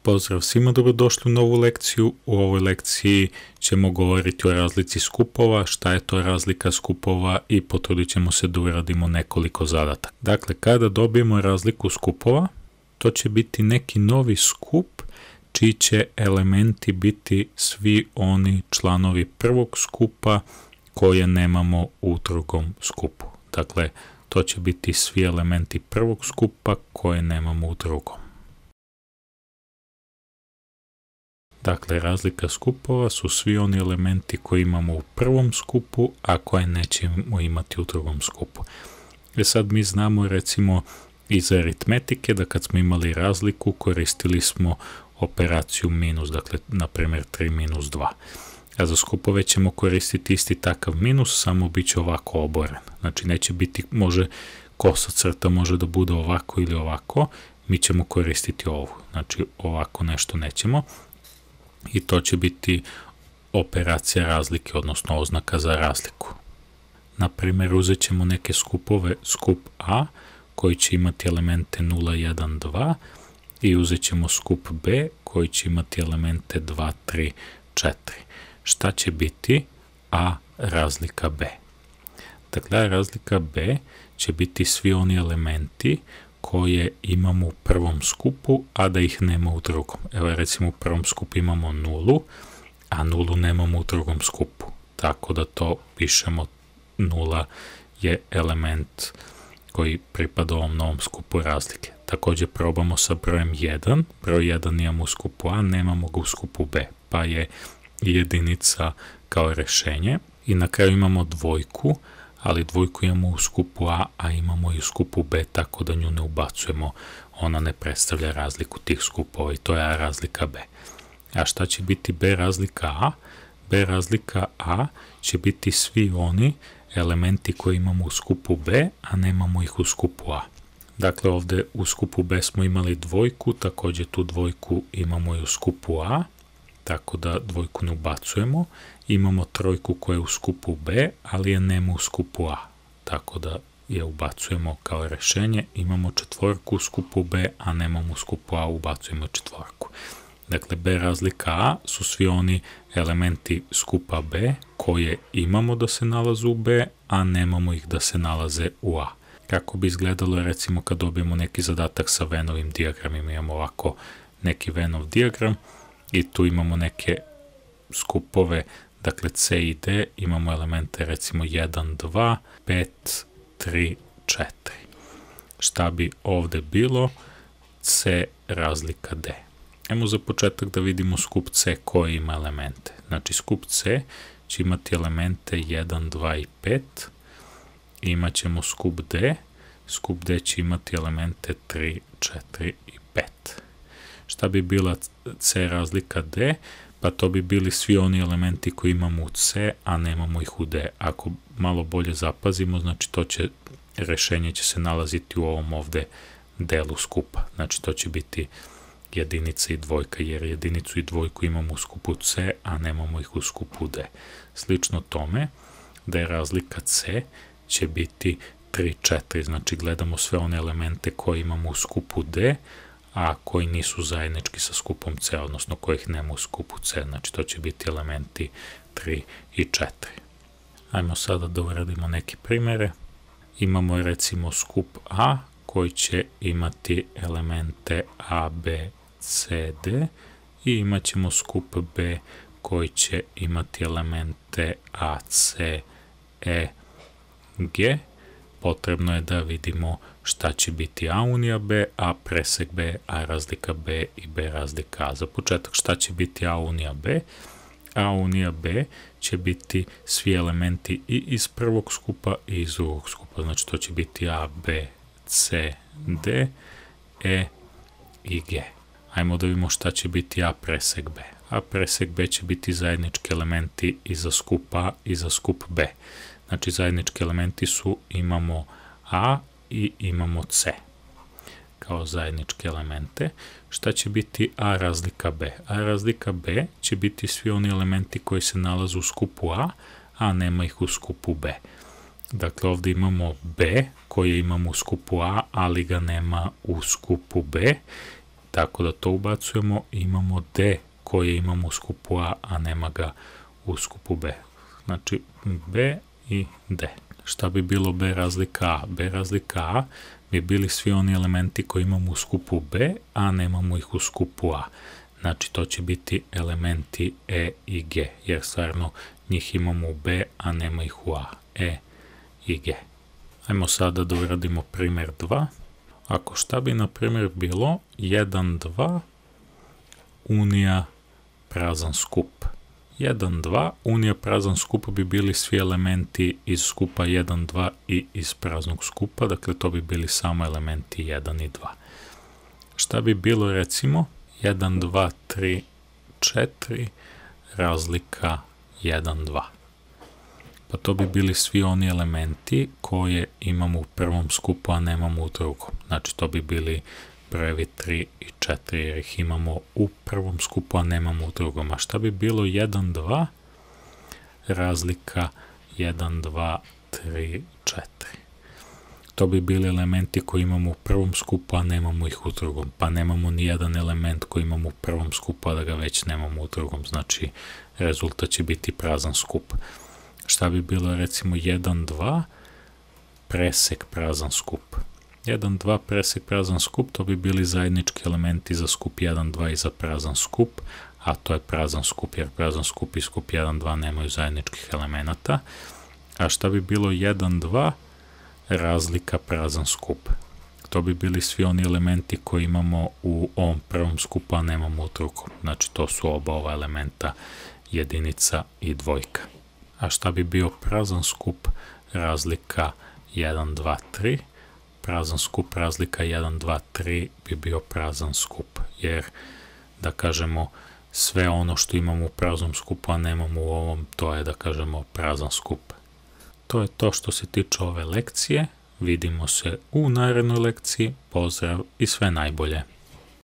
Pozdrav svima, dobrodošli u novu lekciju. U ovoj lekciji ćemo govoriti o razlici skupova, šta je to razlika skupova i potrudit ćemo se da uradimo nekoliko zadataka. Dakle, kada dobijemo razliku skupova, to će biti neki novi skup čiji će elementi biti svi oni članovi prvog skupa koje nemamo u drugom skupu. Dakle, to će biti svi elementi prvog skupa koje nemamo u drugom. Dakle, razlika skupova su svi oni elementi koji imamo u prvom skupu, a koje nećemo imati u drugom skupu. Sad mi znamo recimo iz aritmetike da kad smo imali razliku koristili smo operaciju minus, dakle na primjer 3 minus 2. A za skupove ćemo koristiti isti takav minus, samo bit će ovako oboren. Znači neće biti, može kosa crta može da bude ovako ili ovako, mi ćemo koristiti ovu. Znači ovako nešto nećemo. I to će biti operacija razlike, odnosno oznaka za razliku. Na primjer, uzet ćemo neke skupove, skup A, koji će imati elemente 0, 1, 2, i uzet ćemo skup B, koji će imati elemente 2, 3, 4. Šta će biti A razlika B? Dakle, razlika B će biti svi oni elementi koje imamo u prvom skupu, a da ih nema u drugom. Evo recimo u prvom skupu imamo nulu, a nulu nemamo u drugom skupu. Tako da to pišemo, nula je element koji pripada ovom novom skupu razlike. Također probamo sa brojem 1. Broj 1 imamo u skupu A, nemamo ga u skupu B, pa je jedinica kao rešenje. I na kraju imamo dvojku, ali dvojku imamo u skupu A, a imamo i u skupu B, tako da nju ne ubacujemo. Ona ne predstavlja razliku tih skupova i to je A razlika B. A šta će biti B razlika A? B razlika A će biti svi oni elementi koje imamo u skupu B, a nemamo ih u skupu A. Dakle, ovde u skupu B smo imali dvojku, također tu dvojku imamo i u skupu A, tako da dvojku ne ubacujemo. Imamo trojku koja je u skupu B, ali je nema u skupu A, tako da je ubacujemo kao rešenje. Imamo četvorku u skupu B, a nemamo u skupu A, ubacujemo četvorku. Dakle, B razlika A su svi oni elementi skupa B koje imamo da se nalaze u B, a nemamo ih da se nalaze u A. Kako bi izgledalo recimo kad dobijemo neki zadatak sa Vennovim dijagramima, imamo ovako neki Vennov dijagram i tu imamo neke skupove, dakle C i D, imamo elemente recimo 1, 2, 5, 3, 4. Šta bi ovde bilo? C razlika D. Ajmo za početak da vidimo skup C koji ima elemente. Znači skup C će imati elemente 1, 2 i 5. Imat ćemo skup D. Skup D će imati elemente 3, 4 i 5. Šta bi bila C razlika D? Pa to bi bili svi oni elementi koji imamo u C, a nemamo ih u D. Ako malo bolje zapazimo, znači to će, rešenje će se nalaziti u ovom ovde delu skupa. Znači to će biti jedinica i dvojka, jer jedinicu i dvojku imamo u skupu C, a nemamo ih u skupu D. Slično tome, da je razlika C će biti 3, 4. Znači gledamo sve one elemente koje imamo u skupu D, a koji nisu zajednički sa skupom C, odnosno kojih nema u skupu C. Znači to će biti elementi 3 i 4. Ajmo sada da uradimo neke primere. Imamo recimo skup A koji će imati elemente A, B, C, D i imat ćemo skup B koji će imati elemente A, C, E, G. Potrebno je da vidimo šta će biti A unija B, A presek B, A razlika B i B razlika A. Za početak šta će biti A unija B? A unija B će biti svi elementi i iz prvog skupa i iz drugog skupa. Znači to će biti A, B, C, D, E i G. Ajmo da vidimo šta će biti A presek B. A presek B će biti zajednički elementi i za skup A i za skup B. Znači zajednički elementi su imamo A i imamo C kao zajedničke elemente. Šta će biti A razlika B? A razlika B će biti svi oni elementi koji se nalaze u skupu A, a nema ih u skupu B. Dakle, ovdje imamo B koje imamo u skupu A, ali ga nema u skupu B. Tako da to ubacujemo, imamo D koje imamo u skupu A, a nema ga u skupu B. Znači B i D. Šta bi bilo B razlika A? B razlika A bi bili svi oni elementi koji imamo u skupu B, a nemamo ih u skupu A. Znači to će biti elementi E i G, jer stvarno njih imamo u B, a nema ih u A. E i G. Ajmo sada da uradimo primjer 2. Ako šta bi na primjer bilo 1, 2, unija prazan skup. 1, 2, unija prazan skup bi bili svi elementi iz skupa 1, 2 i iz praznog skupa, dakle to bi bili samo elementi 1 i 2. Šta bi bilo recimo 1, 2, 3, 4, razlika 1, 2. Pa to bi bili svi oni elementi koje imamo u prvom skupu, a nemamo u drugom. Znači to bi bili brojevi 3 i 4, jer ih imamo u prvom skupu, a nemamo u drugom. A šta bi bilo 1, 2, razlika 1, 2, 3, 4. To bi bili elementi koji imamo u prvom skupu, a nemamo ih u drugom. Pa nemamo ni jedan element koji imamo u prvom skupu, a da ga već nemamo u drugom. Znači rezultat će biti prazan skup. Šta bi bilo recimo 1, 2, presek prazan skup. 1, 2, presek prazan skup, to bi bili zajednički elementi za skup 1, 2 i za prazan skup, a to je prazan skup, jer prazan skup i skup 1, 2 nemaju zajedničkih elemenata. A šta bi bilo 1, 2, razlika prazan skup. To bi bili svi oni elementi koji imamo u ovom prvom skupu, a nemamo u drugom. Znači to su oba ova elementa, jedinica i dvojka. A šta bi bio prazan skup, razlika 1, 2, 3. Prazan skup, razlika 1, 2, 3 bi bio prazan skup, jer da kažemo sve ono što imamo u praznom skupu, a nemamo u ovom, to je da kažemo prazan skup. To je to što se tiče ove lekcije. Vidimo se u narednoj lekciji. Pozdrav i sve najbolje.